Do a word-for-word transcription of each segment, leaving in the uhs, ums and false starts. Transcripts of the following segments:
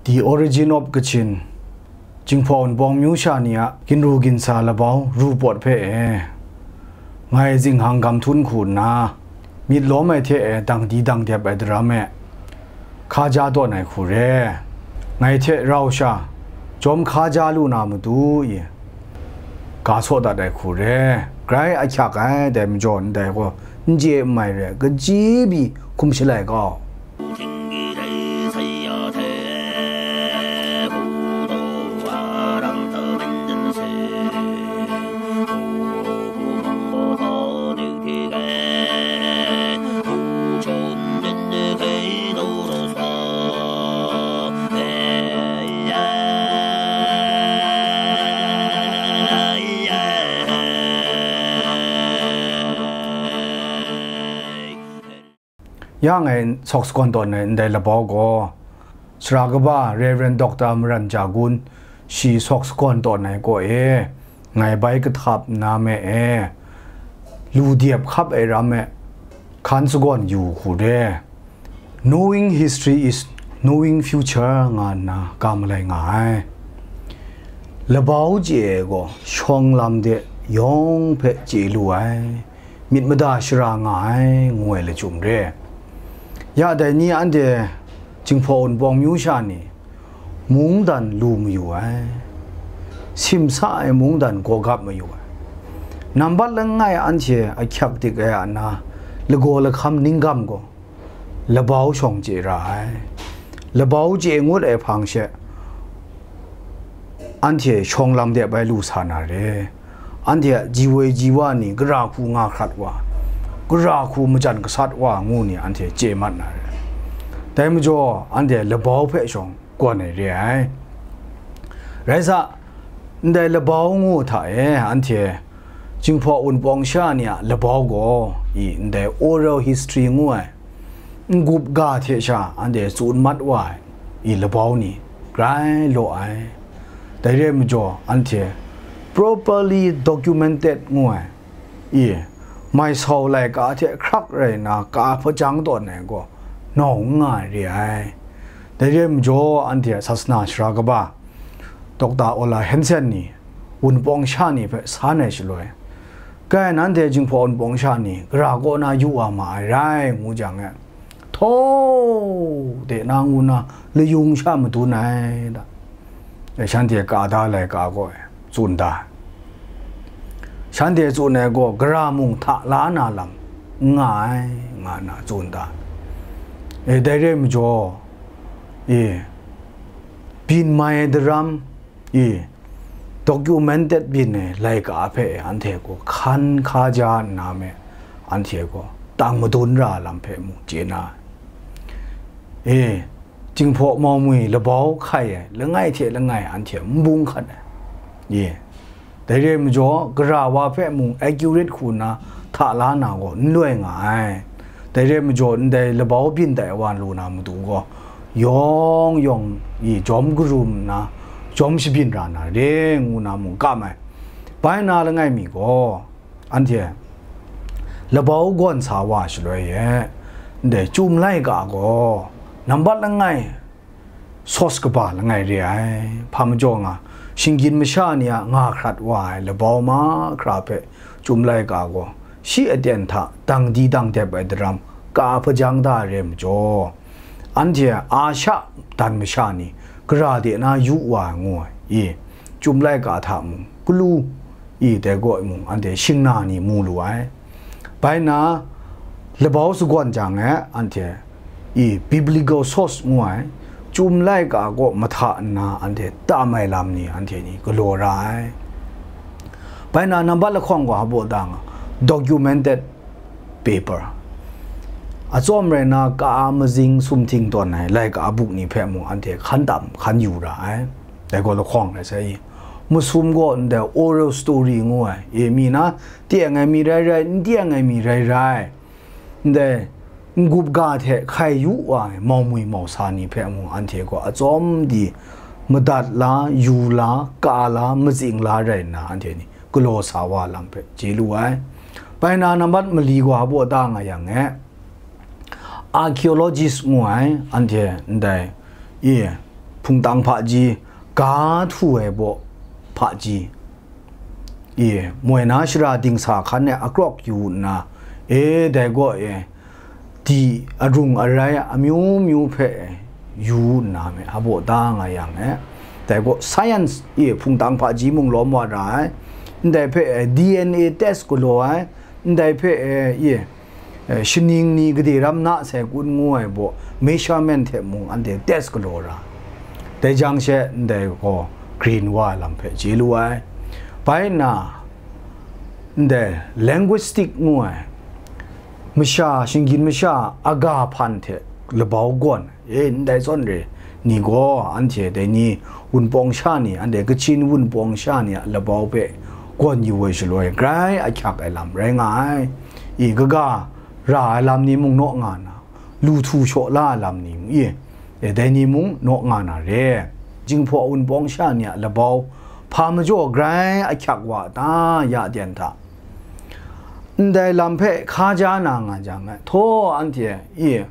The Origin of Kachin, Jinghpaw Wunpawng myu sha ni a ginru ginsa labau ru pawt hpe e, ngai zinghkang gam htum hku nna, myit lawm ai hte e dang di dang dep ai daram e, hkaja tawn ai hku re. Ngai hte rau sha, jawm hkaja lu na matu i, ga saw dat ai hku re. Grai ahkyak ai, dai majaw ndai gaw n chye n mai re, kaji pyi hkum shalai kau. Ya ngai sawk sagawn tawn ai ndai labau gaw, Sara kaba Rev. Doctor Maran Ja Gun shi sawk sagawn tawn ai kaw e, ngai bai kahtap nna me e, lu dep hkap ai ram e, hkan sagawn yu hku re. Knowing history is knowing future nga nna ga malai nga ai. Labau chye ai gaw shawng lam de yawng hpe chye lu ai, myit mada shara nga ai, ngu ai lachyum re. Ya dai ni anhte Jinghpaw Wunpawng myu sha ni mungdan lu mayu ai, simsa ai mungdan gaw gap mayu ai. Nambat langai anhte ahkyak dik ai a na, lagaw lahkam ninggam gaw labau shawng chye ra ai. Labau chye ngut ai hpang she, anhte shawng lam de bai lu sa na re. Anhte a ji woi ji wa ni gara hku nga hkrat wa, gara hku majan gasat wa ngu ni anhte chye mat na re. Dai majaw, anhte labau hpe shawng gawn ai re ai. Rai sa, ndai labau ngu hta e, anhte Jinghpaw Wunpawng sha ni a labau gaw, i ndai oral history ngu ai, n-gup ga hte sha anhte tsun mat wa ai, i labau ni grai law ai. Dai re ai majaw, anhte properly documented ngu ai, i mai sau laika hte hkrak rai nna ka hpajang tawn ai gaw, nawng n nga ai re ai. Dai re ai majaw, anhte a sasana sara kaba, Doctor Ola Hansen ni, Wunpawng sha ni hpe san ai shaloi, kai nanhte Jinghpaw Wunpawng sha ni gara kaw na yu wa ma ai rai, ngu jang e, htaw de na ngu na layung sha madun ai da. E, shanhte ka da laika gaw e, tsun da. Shanhte tsun ai gaw gara mung hta la na lam n nga ai, nga nna tsun da. E, dai re ai majaw, e, byin mai daram, e, documented byin ai laika hpe anhte gaw hkan hkaja nna me, anhte gaw tang madun ra lam hpe mung chye na ai. E, Jinghpaw Maumwi labau hkai ai langai hte langai anhte n bung hkat ai. E, dai re ai majaw, gara wa hpe mung accurate hku nna hta la na gaw n loi nga ai. Dai re ai majaw, ndai labau byin tai wa lu na matu gaw, yawng yawng i jawm karum nna, jawm shabyin ra na re, ngu na mung kam ai. Bai na langai mi gaw, anhte labau gawn sa wa shaloi e, ndai Chyum laika gaw nambat langai source kaba langai re ai. Hpa majaw nga, shinggyim masha ni a nga hkrat wa ai labau mahkra hpe Chyum laika gaw shi aten hta dang di dang dep ai daram ka hpajang da ai re ai majaw, anhte a sha dan masha ni gara de na yu wa ai ngu ai, i, Chyum laika hta mung, galu, i, dai gaw mung, anhte shingna ni mu lu ai. Bai na, labau sagawn jang e, anhte, i, biblical source ngu ai, Chyum laika kaw mahta nna anhte tam ai lam ni anhte ni galaw ra ai. Bai na, nambat lahkawng gaw hpa baw da nga, documented paper. Atsawm rai na, ka a mazing sumhting tawn ai laika buk ni hpe mung anhte hkan tam, hkan yu ra ai. Dai gaw lahkawng rai sai i. Masum gaw ndai oral story ngu ai, e, mi na, teng ai mi rai rai, n teng ai mi rai rai, ndai n-gup ga hte hkai yu wa ai maumwi mausa ni hpe mung anhte gaw atsawm di madat la, yu la, ka la, matsing la rai nna, anhte ni galaw sa wa lam hpe chye lu ai. Bai na, nambat mali gaw hpa baw da nga yang e, archaeologist ngu ai, anhte ndai, e, hpungtang hpaji, ga htu ai baw hpaji, e, moi na shara dingsa hkan e akrawk yu nna, e, dai gaw e, di arung arai amyu myu hpe yu nna me, hpaw da nga yang e, dai gaw science e hpungtang hpaji mung lawm wa ra ai, ndai hpe e, D N A test galaw ai, ndai hpe e, e, e, shaning ni gade ram na sai kun ngu ai baw measurement hte mung anhte test galaw ra. Dai jang she ndai gaw green wa ai lam hpe chye lu ai. Bai nna, ndai linguistic ngu ai, masha, shinggyim masha a ga hpan hte labau gawn, e, ndai zawn re ni gaw, anhte dai ni wunpawng sha ni, anhte Kachin wunpawng sha ni a labau hpe gawn yu ai shaloi, grai ahkyak ai lam rai nga ai. I, kaga ra ai lam ni mung naw nga na, lu htu shaw la ai lam ni mung, i, e, dai ni mung naw nga na re. Jinghpaw wunpawng sha ni a labau hpa majaw grai ahkyak wa ta, ya ten hta? Ndai lam hpe hka ja na nga jang, htaw anhte, i,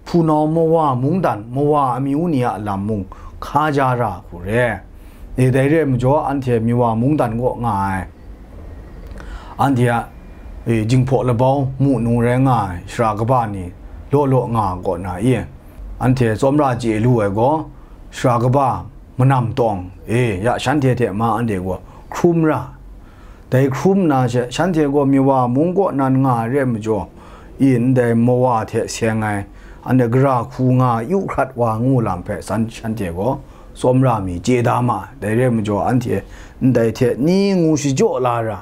hpunau mawa mungdan, mawa amyu ni a lam mung hka ja ra hku re. E, dai re ai majaw, anhte miwa mungdan kaw nga ai, anhte a, e, Jinghpaw labau mu nu rai nga ai sara kaba ni law law nga kaw na, i, anhte tsawmra chye lu ai gaw, sara kaba manam tawng, e, ya shanhte hte ma anhte gaw hkrum ra. Dai hkrum nna she, shanhte gaw miwa mung kaw nan nga ai re ai majaw, i, ndai mawa hte seng ai, anhte gara hku nga yu hkrat wa ngu lam hpe san shanhte gaw tsawmra mi chye da ma ai. Dai re ai majaw, anhte ndai hte ni ngu shajaw la ra,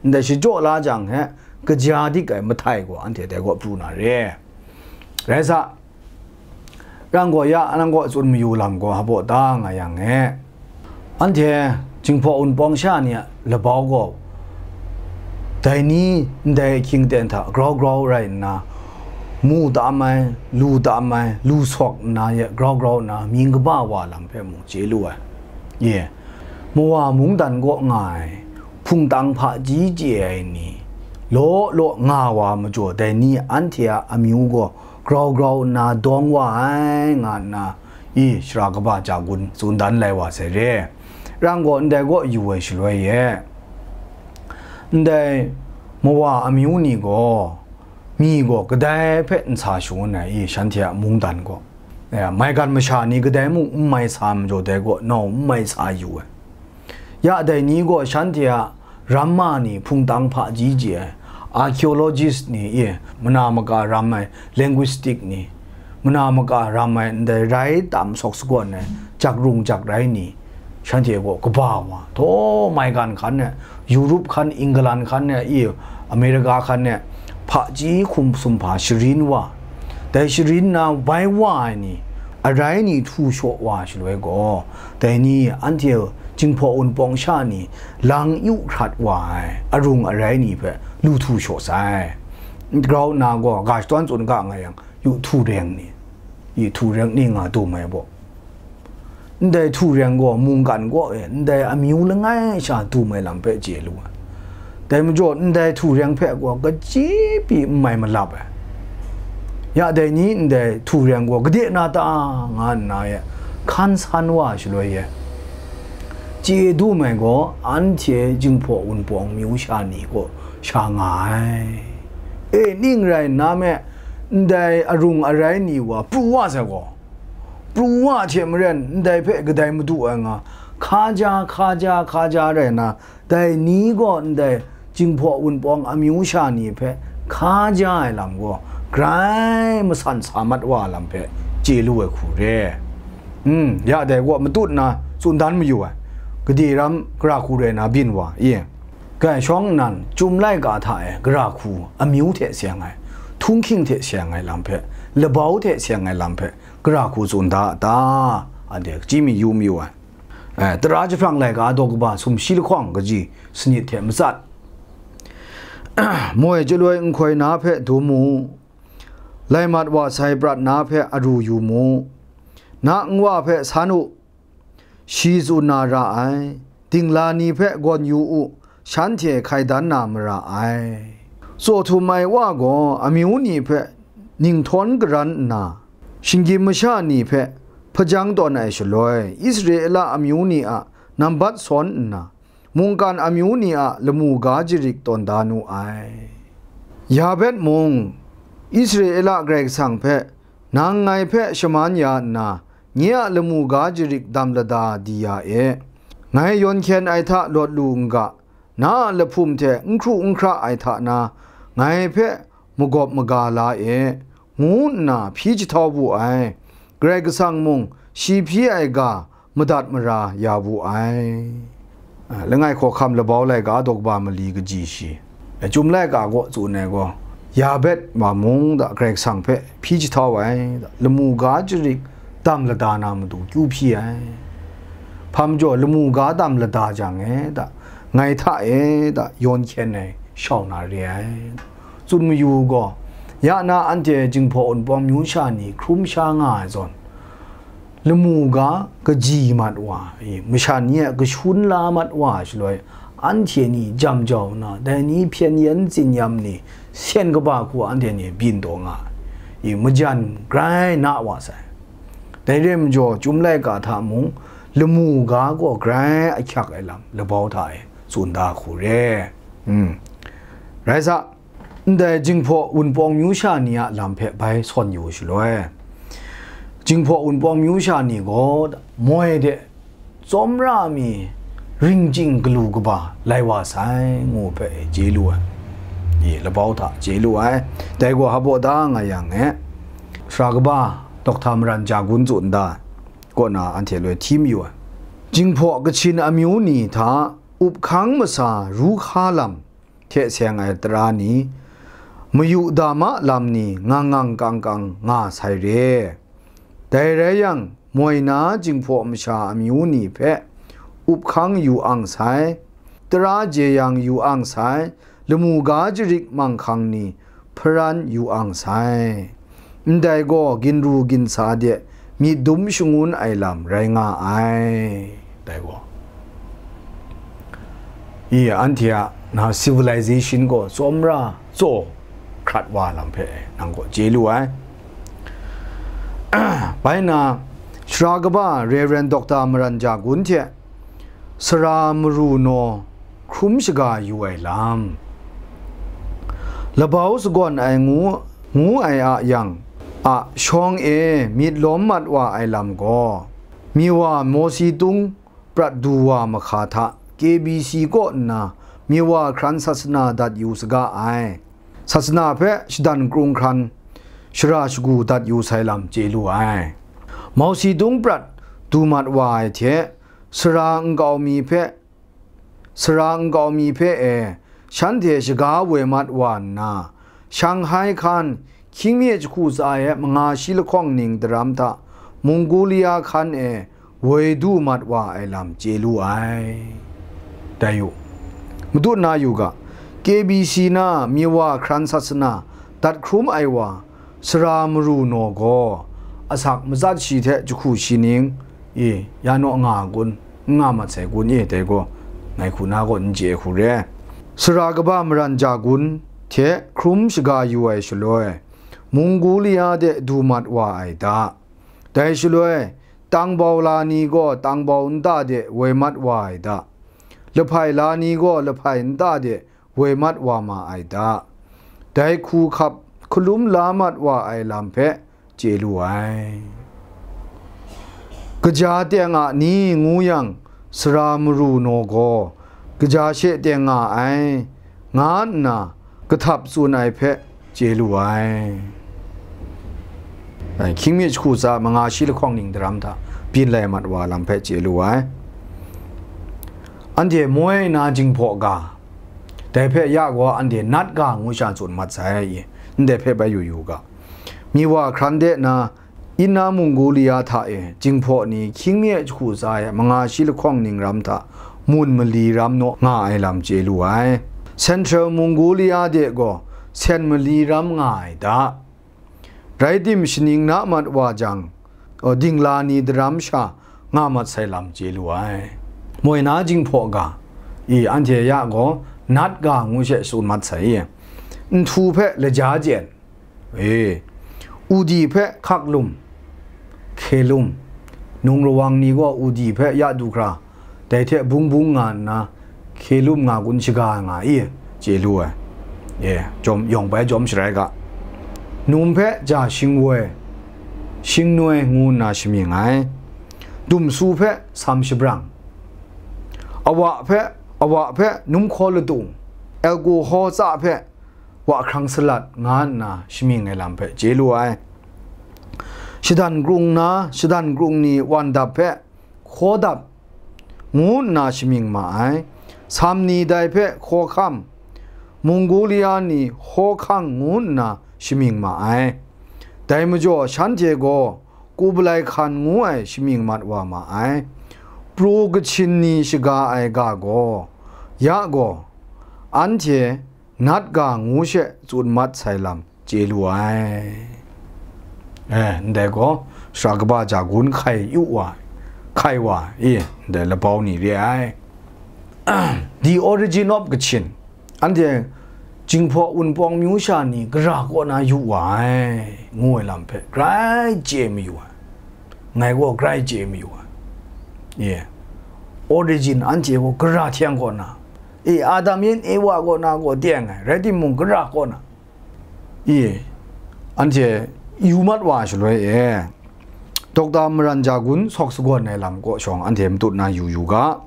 ndai shajaw la jang he, kaja dik ai mahtai gaw anhte dai gaw pru na re. Rai sa, rang gaw ya, nang gaw tsun mayu lam gaw hpaw da nga yang e. Anhte Jinghpaw wunpawng sha ni a labau gaw, dai ni ndai ahkying ten hta grau grau rai nna, mu tam ai, lu tam ai, lu sawk nna ye grau grau nna mying kaba wa lam hpe mung chye lu ai. Ye, mawa mungdan kaw nga ai, hpungtang hpaji chye ai ni, law law nga wa majaw, dai ni anhte a amyu gaw grau grau nna dawng wa ai, nga nna, i, sara kaba ja gun tsun dan lai wa sai re. Rang gaw ndai kaw yu ai shaloi e, ndai mawa amyu ni gaw, mi gaw kadai hpe n sa shangun ai, i, shanhte a mungdan gaw, e, maigan masha ni kadai mung n mai sa majaw, dai gaw nau n mai sa yu ai. Ya dai ni gaw shanhte a ramma ni hpungtang hpaji chye ai, archaeologist ni, i, mana maka ram ai linguistic ni, mana maka ram ai ndai rai tam sawk sagawn ai, jak rung jak rai ni, shanhte gaw kaba wa, htaw maigan hkan e, Europe hkan, England hkan e, i, America hkan e, hpaji hkum sum hpa sharin wa, dai sharin na bai wa ai ni, arai ni htu shaw wa shaloi gaw, dai ni anhte Jinghpaw wunpawng sha ni lang yu hkrat wa ai arung arai ni hpe lu htu shaw sai. Grau nna gaw, ga shadawn tsun ga nga yang, yu htu reng ni, i htu reng ni nga dum ai baw, ndai htu reng gaw mungkan kaw e ndai amyu langai sha dum ai lam hpe chye lu ai. Dai majaw, ndai htu reng hpe gaw kaji pyi n mai malap ai. Ya dai ni ndai htu reng gaw gade na ta, nga nna e hkan san wa ai shaloi e, chye dum ai gaw anhte Jinghpaw wunpawng myu sha ni kaw sha nga ai. E, ning rai nna me, ndai arung arai ni wa pru wa sai gaw, pru wa hte maren ndai hpe kadai madu ai nga, hka ja, hka ja, hka ja rai nna, dai ni gaw ndai Jinghpaw wunpawng amyu sha ni hpe hka ja ai lam gaw grai masan sa mat wa ai lam hpe chye lu ai hku re. Hmm, ya dai gaw matut nna tsun dan mayu ai, gade ram gara hku rai na byin wa, i, grai shawng nnan, Chyum laika hta e gara hku amyu hte seng ai, htunghking hte seng ai lam hpe, labau hte seng ai lam hpe, gara hku tsun da a ta? Anhte hkachyi mi yu mayu ai. Eh, Tara jahprang laika daw kaba sumshi lahkawng kaji sanit hte matsat, moi chyaloi nhkoi na hpe dum u, lai mat wa sai prat na hpe aru yu mu, na nwa hpe san u, shi tsun na ra ai, dingla ni hpe gawn yu u, shanhte hkai dan na mara ai. Tsaw htum ai wa gaw amyu ni hpe ninghtawn karan nna, shinggyim masha ni hpe hpajang tawn ai shaloi, Israela amyu ni a nambat sawn nna, mungkan amyu ni a lamu ga jarik tawn da nu ai. Yabet mung, Israela Karai Kasang hpe, "Nang ngai hpe shaman ya nna, nye a lamu ga jarik dam lada di ya e. Ngai yawn hkyen ai hta lawt lu n ga, na a lahpum hte n hkru n hkra ai hta na, ngai hpe magawp maga la e," ngu nna hpyi jahtau wu ai. Karai Kasang mung shi hpyi ai ga madat mara ya wu ai. A, langai hkawhkam labau laika daw kaba mali kaji shi, a, Chyum laika kaw tsun ai gaw, Yabet wa mung da Karai Kasang hpe hpyi jahtau ai da, lamu ga jarik dam lada na matu kyu hpyi ai. Hpa majaw, lamu ga dam lada jang e da, ngai hta e da, yawn hkyen ai shau na re ai. Tsun mayu gaw, ya na anhte Jinghpaw Wunpawng myu sha ni hkrum sha nga ai zawn, lamu ga kaji mat wa, i, masha ni a kashun la mat wa shaloi, anhte ni jam jau nna, dai ni hpyen yen tsin-yam ni, sen kaba hku anhte ni byin taw nga ai, i, majan grai na wa sai. Dai re ai majaw, Chyum laika hta mung, lamu ga gaw grai ahkyak ai lam labau hta e tsun da hku re. Hmm. Rai sa, ndai Jinghpaw Wunpawng myu sha ni a lam hpe bai sawn yu shaloi, Jinghpaw Wunpawng myu sha ni gaw moi de tsawmra mi ring chying galu kaba lai wa sai, ngu hpe chye lu ai. I, labau hta chye lu ai. Dai gaw hpa baw da nga yang e, sara kaba Dokta Maran Ja Gun tsun da ai, kaw na anhte loi hti mayu ai. Jinghpaw Kachin amyu ni hta up hkang masa ru hka lam hte seng ai tara ni, mayu dama lam ni ngang ngang kang kang nga sai re. Dai rai yang, moi na Jinghpaw masha amyu ni hpe up hkang yu ang sai, tara jeyang yu ang sai, lamu ga jarik manghkang ni hparan yu ang sai. Ndai gaw ginru ginsa de myit dum shangun ai lam rai nga ai. Dai gaw, i, anhte a na civilization gaw tsawmra tsaw hkrat wa lam hpe nang gaw chye lu ai. Bai na, sara kaba Rev. Dokta Maran Ja Gun hte sara maru naw hkrum shaga yu ai lam. Labau sagawn ai ngu, ngu ai a yang a shawng e myit lawm mat wa ai lam gaw, Miwa Mawsi Tung prat du wa mahka hta K B C kaw nna Miwa hkran sasana dat yu saga ai. Sasana hpe shadan krung hkran shara shagu dat yu sai lam chye lu ai. Mawsi Tung prat du mat wa ai hte, sara nkau mi hpe, sara nkau mi hpe e, shanhte shaga woi mat wa nna, Shanghai hkan, hkying mi jahku tsa e manga shi lahkawng ning daram hta, Mongolia hkan e woi du mat wa ai lam chye lu ai. Dai u, madun na yu ga, K B C na Miwa hkran sasana dat hkrum ai wa, sara maru naw gaw, asak matsat shi hte jahku shi ning, e, ya naw nga kun, n nga mat sai kun e, dai gaw, ngai hku na gaw n chye hku re. Sara kaba Maran Ja Gun hte hkrum shaga yu ai shaloi, Mongolia de du mat wa ai da. Dai shaloi, tangbau la ni gaw tangbau nta de woi mat wa ai da. Lahpai la ni gaw lahpai nta de woi mat wa ma ai da. Dai hku hkap hkalum la mat wa ai lam hpe chye lu ai. Kaja teng a ni ngu yang, sara maru naw gaw kaja she teng nga ai, nga nna kahtap tsun ai hpe chye lu ai. Ai, hkying mi jahku tsa manga shi lahkawng ning daram hta byin lai mat wa lam hpe chye lu ai. Anhte moi na Jinghpaw ga, dai hpe ya gaw anhte nat ga ngu sha tsun mat sai, ndai hpe bai yu yu ga. Miwa hkran de na, Inner Mongolia hta e Jinghpaw ni hkying mi jahku tsa e manga shi lahkawng ning ram hta mun mali ram naw nga ai lam chye lu ai. Central Mongolia de gaw sen mali ram nga ai da. Rai tim, shaning na mat wa jang, dingla ni daram sha nga mat sai lam chye lu ai. Moi na Jinghpaw ga, i, anhte ya gaw nat ga ngu she tsun mat sai i, nhtu hpe laja jen, e, udi hpe hkak lum, hke lum, Nung rawang ni gaw udi hpe ya du hkra, dai hte bung bung nga nna, hkye lum nga gun shaga nga i, chye lu ai. E, jawm, yawng bai jawm sharai ga. Num hpe ja shingwoi, shingnoi ngu nna shamying ai. Dumsu hpe sam shabrang. Awa hpe, awa hpe num hkaw ladung, alkohol tsa hpe wa hkrang salat nga nna shamying ai lam hpe chye lu ai. Shadan krung na, shadan krung ni wan dap hpe hkaw dap ngu nna shamying ma ai. Sam ni dai hpe hkaw hkam, Mongolia ni hkaw hkang ngu nna shamying ma ai. Dai majaw shanhte gaw Kublai Khan ngu ai shamying mat wa ma ai. Pro Kachin ni shaga ai ga gaw, ya gaw, anhte nat ga ngu she tsun mat sai lam chye lu ai. E, ndai gaw, sara kaba ja gun hkai yu wa, hkai wa, e, ndai labau ni re ai. The origin of Kachin. Anhte Jinghpaw Wunpawng myu sha ni gara kaw na yu wa ai, ngu ai lam hpe grai chye mayu ai. Ngai gaw grai chye mayu ai. Ye. Origin anhte gaw gara hte kaw na, e, Adam yin Ewa kaw na gaw teng ai, rai timung, gara kaw na, e, anhte yu mat wa shaloi e, Dokta Maran Jagun sawk sagawn ai lam kaw shawng anhte matut na yu yu ga.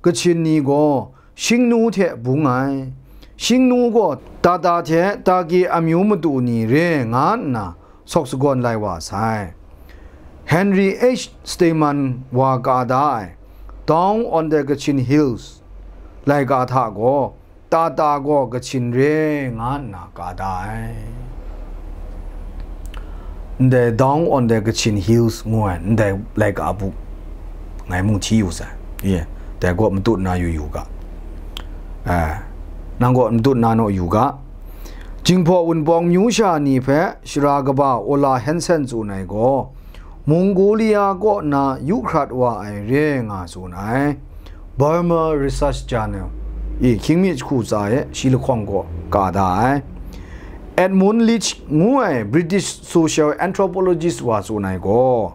Kachin ni gaw Shingnu hte bung ai. Shingnu gaw Tata hte Taki amyu matu ni re nga nna sawk sagawn lai wa sai. Henry H. Stamen wa ka da ai Down on the Kachin Hills laika hta gaw, Tata gaw Kachin re nga nna ka da ai. Ndai Down on the Kachin Hills ngu ai ndai laika buk ngai mung hti yu sai. Ye, dai gaw matut na yu yu ga. Eh, nang gaw matut na naw yu ga. Jinghpaw Wunpawng myu sha ni hpe shara kaba Ola Hansen tsun ai gaw, Mongolia kaw na yu hkrat wa ai re nga tsun ai. Burma Research Journal i hkying mi jahku tsa e shi lahkawng gaw ka da ai. Edmund Leach ngu ai British social anthropologist wa tsun ai gaw,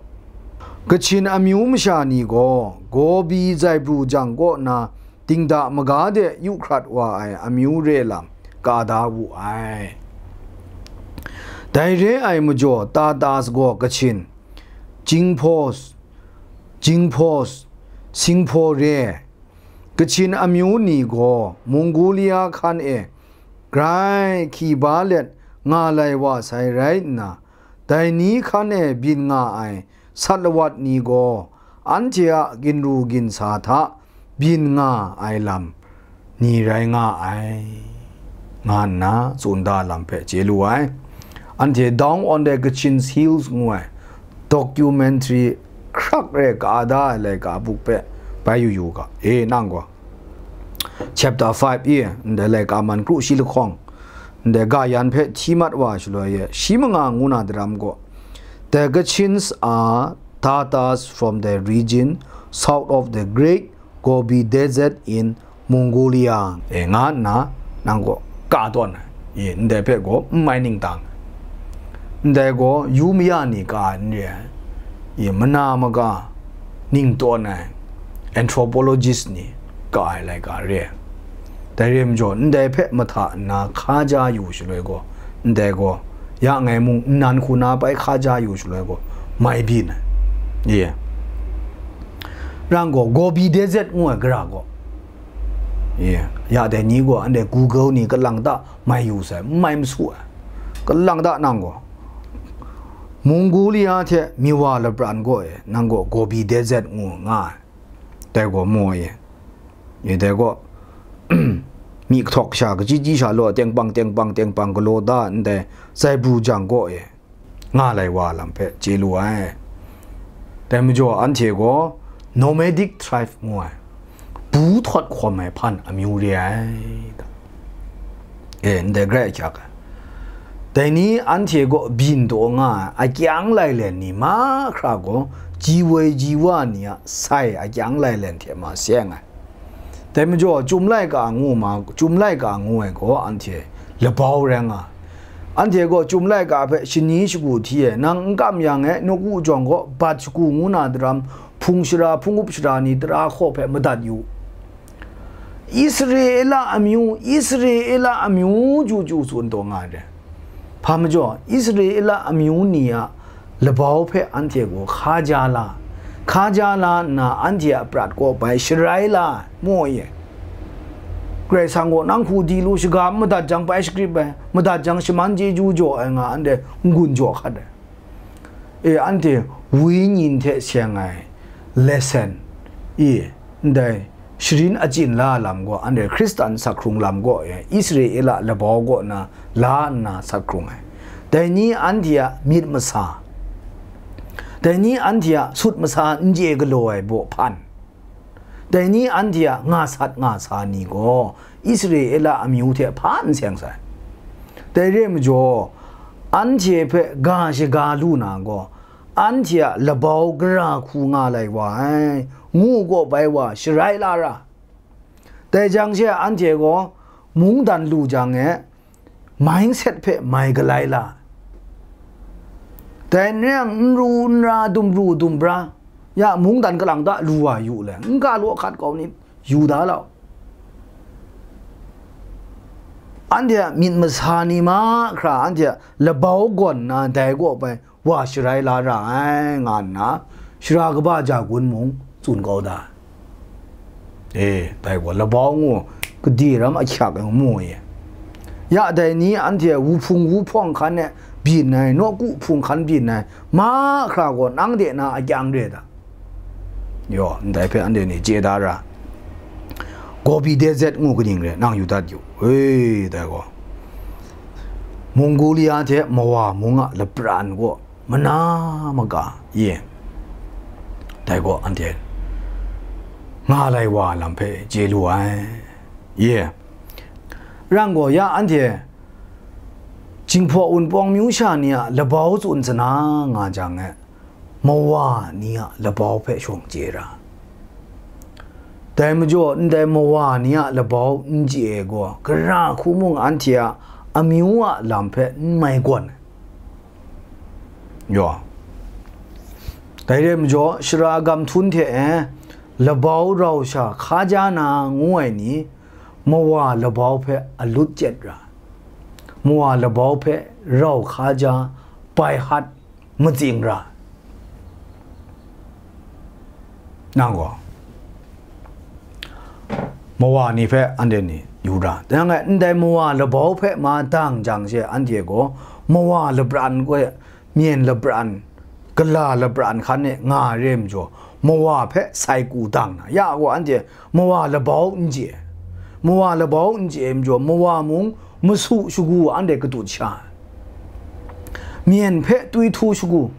Kachin amyu masha ni gaw Gobi zaibru jang kaw na dingda maga de yu hkrat wa ai amyu re lam ka da wu ai. Dai re ai majaw Tatas gaw Kachin, Jingphos, Jingphos, Singpho re, Kachin amyu ni gaw Mongolia hkan e grai hki ba let nga lai wa sai rai nna, dai ni hkan e byin nga ai sat lawat ni gaw anhte a ginru ginsa hta byin nga ai lam ni rai nga ai, nga nna tsun da lam hpe chye lu ai. Anhte Down on the Kachin Hills ngu ai documentary hkrak re ka da ai laika buk hpe bai yu yu ga, e, nang gaw. Chapter five e, ndai laika man kru shi lahkawng, ndai ga yan hpe hti mat wa shaloi e, shi manga ngu na daram gaw, The Kachins are Tatars from the region south of the Great Gobi Desert in Mongolia, e, nga nna nang gaw ka tawn ai. E, ndai hpe gaw n mai ning tang ai. Ndai gaw yu maya ni ka ai n re ai. E, mana maga ning tawn ai anthropologist ni ka ai laika re ai. Dai re majaw, ndai hpe mahta nna hka ja yu shaloi gaw, ndai gaw, ya ngai mung nnan hku na bai hka ja yu shaloi gaw, mai byin ai. Ye. Rang gaw, Gobi Desert ngu ai gara gaw, ye, ya dai ni gaw, anhte Google ni kalang ta mai yu sai, n mai masu ai. Kalang ta nang gaw, Mongolia hte Miwa lapran gaw e, nang gaw Gobi Desert ngu nga ai. Dai gaw maw e. Ye, dai gaw, myi kahtawk sha, kachyi chyi sha law, tengpang, tengpang, tengpang galaw da ndai zaibru jang gaw e, nga lai wa lam hpe chye lu ai. Dai majaw, anhte gaw nomadic tribe ngu ai, bu htawt hkawm ai hpan amyu re ai. E, ndai grai ahkyak ai. Dai ni anhte gaw byin taw nga ai akyang lailen ni mahkra gaw, ji woi ji wa ni a sai akyang lailen hte ma seng ai. Dai majaw, Chyum laika ngu ma, Chyum laika ngu ai gaw anhte labau rai nga ai. Anhte gaw chyum laika hpe shani shagu hti e, nang n kam yang e, nawku jawng gaw bat shagu ngu na daram, hpung shara, hpung up shara ni tara hkaw hpe madat yu. Israela amyu, Israela amyu chyu chyu tsun taw nga ai. Hpa majaw, Israela amyu ni a labau hpe anhte gaw hka ja la, hka ja la nna anhte a prat kaw bai sharai la ai, mu ai. Karai Kasang gaw nang hku di lu, shaga n madat jang bai shagrip ai, madat jang shaman chyeju jaw ai nga anhte n-gun jaw hkat ai. E, anhte wenyi hte seng ai lesson, e, ndai sharin achyin la lam gaw, anhte Hkristan sak hkrung lam gaw, e, Israela labau kaw na la nna sak hkrung ai. Dai ni anhte a myit masa, dai ni anhte a sut masa n chye galaw ai baw hpan, dai ni anhte a nga sat nga sa ni gaw Israela amyu hte hpa n seng sai. Dai re ai majaw, anhte hpe ga shaga lu na gaw, anhte a labau gara hku nga lai wa ai, ngu gaw bai wa sharai la ra. Dai jang she anhte gaw mungdan lu jang e, mindset hpe mai galai la. Dai n rai yang, n ru n ra, dum ru dum bra, ya mungdan kalang ta lu wa yu le, n ga law hkat kau ni, yu da lau. Anhte a myit masa ni mahkra, anhte a labau gawn na dai gaw bai wa sharai la ra ai, nga nna, shara kaba ja gun mung tsun kau da. E, dai gaw labau ngu, gade ram ahkyak ai ngu mu ai. Ya dai ni anhte wuhpung wuhpawng hkan e byin ai, nawku hpung hkan byin ai, mahkra gaw nang de na akyang re da. Yaw, ndai hpe anhte ni chye da ra. Gobi Desert ngu kaning re, nang yu dat yu. E, dai gaw, Mongolia hte Mawa mung a lapran gaw mana maga, ye, dai gaw anhte nga lai wa lam hpe chye lu ai, ye. Rang gaw ya anhte Jinghpaw Wunpawng myu sha ni a labau tsun sana nga jang e, Mawa ni a labau hpe shawng chye ra. Dai majaw, ndai Mawa ni a labau n chye ai gaw, gara hku mung anhte a amyu a lam hpe n mai gawn ai. Yaw. Dai re majaw, shara gam htun hte e, labau rau sha hka ja na ngu ai ni, Mawa labau hpe alut chyet ra, Mawa labau hpe rau hka ja, bai hat, matsing ra. Nang gaw, Mawa ni hpe anhte ni yu ra. Dai yang e, ndai Mawa labau hpe ma dang jang she, anhte gaw Mawa labran gaw, myen labran, gala labran hkan e nga ai re majaw, Mawa hpe sai ku dang na, ya gaw anhte Mawa labau n chye ai. Mawa labau n chye ai majaw, Mawa mung masu shagu anhte katut sha ai. Myen hpe twi htu shagu,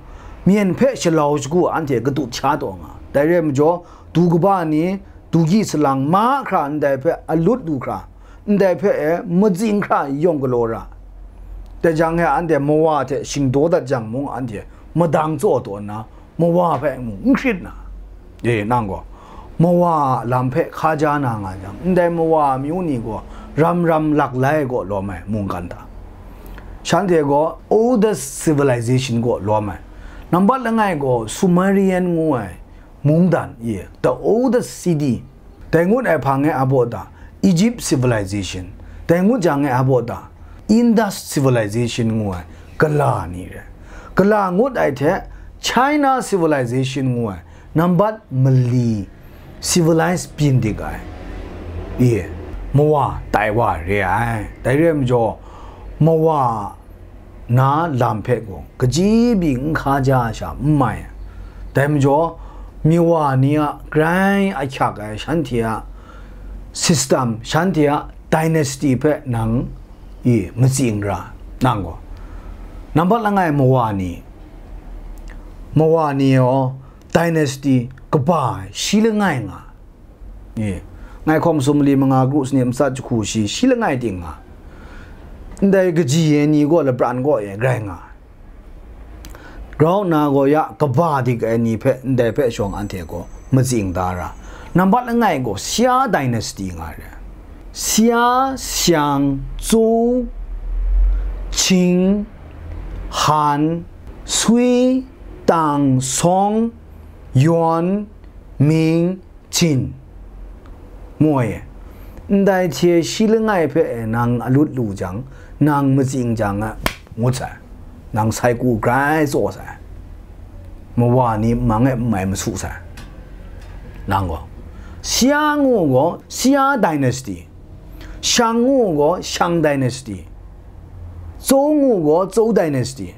myen hpe shalau shagu anhte katut sha taw nga. Dai re ai majaw, du kaba ni, dugyi salang mahkra ndai hpe alut lu hkra, ndai hpe e matsing hkra yawng galaw ra. Dai jang e anhte Mawa hte shingdaw dat jang mung, anhte madang tsaw taw nna, Mawa hpe mung n hkrit na. E, nang gaw, Mawa a lam hpe hka ja na nga jang, ndai Mawa amyu ni gaw ram ram lak lai gaw lawm ai mungkan hta, shanhte gaw oldest civilization gaw lawm ai. Nambat langai gaw Sumerian ngu ai mungdan, ye, the oldest city. Dai ngut ai hpang e a baw ta, Egypt civilization. Dai ngut jang e a baw ta, Indus civilization ngu ai gala ni re. Gala ngut ai hte China civilization ngu ai nambat mali civilized byin dik ai, e, Mawa tai wa re ai. Dai re ai majaw, Mawa na lam hpe gaw kaji byi n hka ja ai sha n mai ai. Dai majaw, Mawa ni a grai ahkyak ai shanhte a system, shanhte a dynasty hpe nang, e, matsing ra, nang gaw. Nambat langai Mawa ni, Mawa ni gaw dynasty kaba ai shi langai nga. E, ngai hkawm sumali manga kru sanit matsat jahku shi, shi langai ting nga. Ndai kaji ai ni gaw lapran kaw e grai nga ai. Grau nna gaw ya kaba dik ai ni hpe ndai hpe shawng anhte gaw matsing da ra. Nambat langai gaw Xia dynasty nga ai. Xia, Xiang, Zhou, Ching, han, swi, tang, sawng, yawn, ming, jin, moi. Ndai hte shi langai hpe nang alut lu jang, nang matsing jang a, ngut sai, nang sai ku grai tsaw sai, mawa ni mang e n mai masu sai. Nang gaw, Xia ngu gaw Xia dynasty, Shang ngu gaw Shang dynasty, Zhou ngu gaw Zhou dynasty.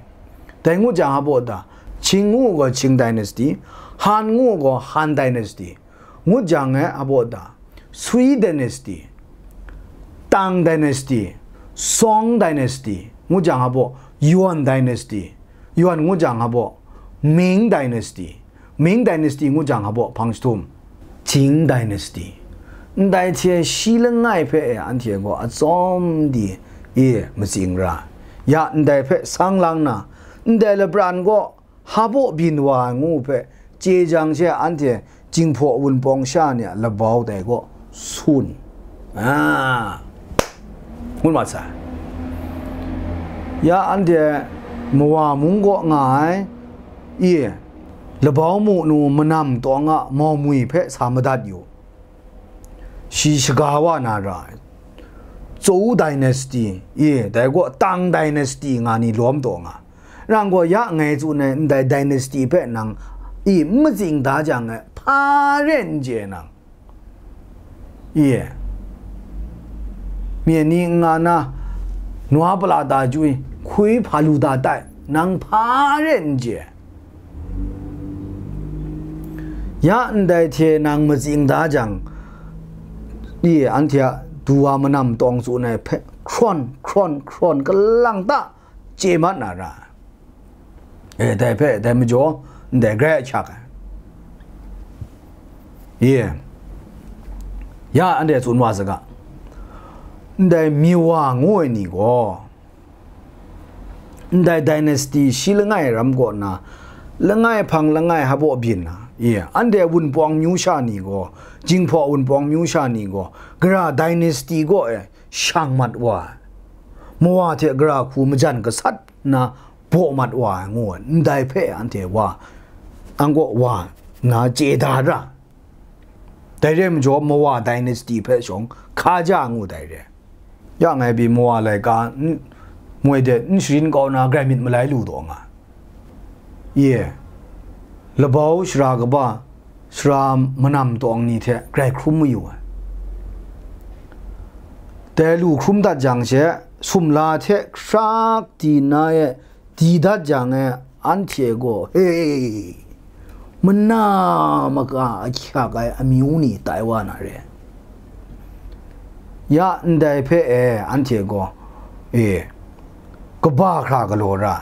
Dai ngut jang a baw da, Ching ngu gaw Ching dynasty, Han ngu gaw Han dynasty. Ngut jang e a baw da, Sui dynasty, Tang dynasty, Song dynasty, ngut jang a baw, Yuan dynasty, Yuan ngut jang a baw, Ming dynasty, Ming dynasty ngut jang a baw, hpang jahtum, Jing dynasty. Ndai hte shi langai hpe e anhte gaw atsawm di e matsing ra. Ya ndai hpe sang lang na, ndai lapran gaw hpa baw byin wa ai ngu hpe chye jang she, anhte Jinghpaw Wunpawng sha ni a labau dai gaw sun, a, ngut mat sai. Ya anhte mawa mung kaw nga ai, i, labau mu nu manam tawng a maumwi hpe sa madat yu. Shi shaga wa na ra ai, Zhou dynasty, i, dai gaw Tang dynasty nga ni lawm taw nga. Nang gaw ya ngai tsun ai ndai dynasty hpe nang, i, n matsing da jang e, hpa re n chye nang, i, mye ni n nga na, nwa pala da jwi, hkui hpa lu da tai, nang hpa re n chye. Ya ndai hte nang matsing da jang, i, anhte a du wa manam tawng tsun ai hpe, hkrawn, hkrawn, hkrawn, kalang ta chye mat na ra. E, dai hpe, dai majaw, ndai grai ahkyak ai. Ye. Ya, anhte tsun wa saga. Ndai Miwa ngu ai ni gaw, ndai dynasty shi langai ram kaw na, langai hpang langai hpa baw byin na, ye, anhte Wunpawng myu sha ni gaw, Jinghpaw Wunpawng myu sha ni gaw, gara dynasty kaw e shang mat wa ai, mawa hte gara hku majan gasat nna baw mat wa ai ngu ai, ndai hpe anhte wa, ang kaw wa nna chye da ra. Dai re ai majaw, Mawa dynasty hpe shawng Hkaja ngu dai re. Ya ngai pyi Mawa laika n-, moi de n sharin kau na grai myit malai lu taw nga. Ye, labau shara kaba, sara manam tawng ni hte grai hkrum mayu ai. Dai lu hkrum dat jang she, sumla hte hkrak di na e di dat jang e, anhte gaw, he, mana maka ahkyak ai amyu ni tai wa na re. Ya ndai hpe e, anhte gaw, e, kaba hkra galaw ra.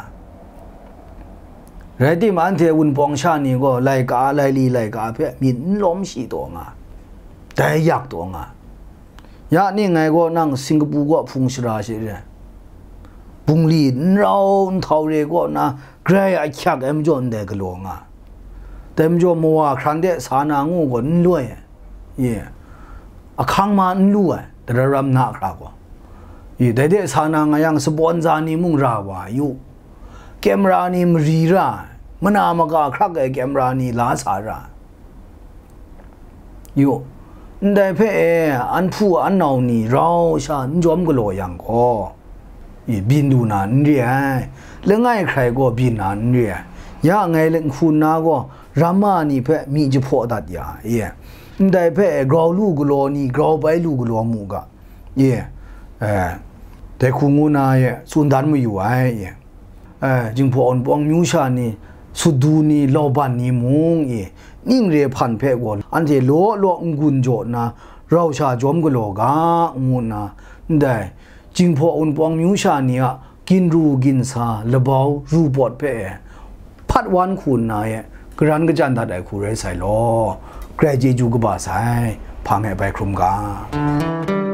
Rai timung, anhte Wunpawng sha ni gaw laika, laili laika hpe myit n lawm shi taw nga, dai yak taw nga. Ya ning ngai gaw nang Singkapu kaw hpung shara she re, bungli n rau n htau re kaw na grai ahkyak ai majaw ndai galaw nga. Dai majaw Mawa hkran de sa na ngu gaw n loi ai. Ye, ahkang ma n lu ai, dara ram na hkra gaw. Ye, dai de sa na nga yang, sabawn za ni mung ra wa yu, camera ni mari ra ai, mana maka hkrak ai camera ni la sa ra ai. Yu, ndai hpe e, an hpu an nau ni rau sha n jawm galaw yang gaw, i, byin lu na n re ai, langai hkrai gaw byin na n re ai. Ya ngai nhku nna gaw, ramma ni hpe myi jahpaw dat ya, i, ndai hpe e, grau lu galaw ni grau bai lu galaw mu ga, i, e, dai hku ngu na e tsun dan mayu ai, i. E, Jinghpaw Wunpawng myu sha ni, Sudu ni, Lauban ni mung, i, ning re hpan hpe gaw anhte law law n-gun jaw nna, rau sha jawm galaw ga, ngu nna, ndai Jinghpaw Wunpawng myu sha ni a ginru ginsa labau ru pawt hpe e, hpat wan hku nna e, garan kajan dat ai hku rai sai law, grai chyeju kaba sai, hpang e bai hkrum ga.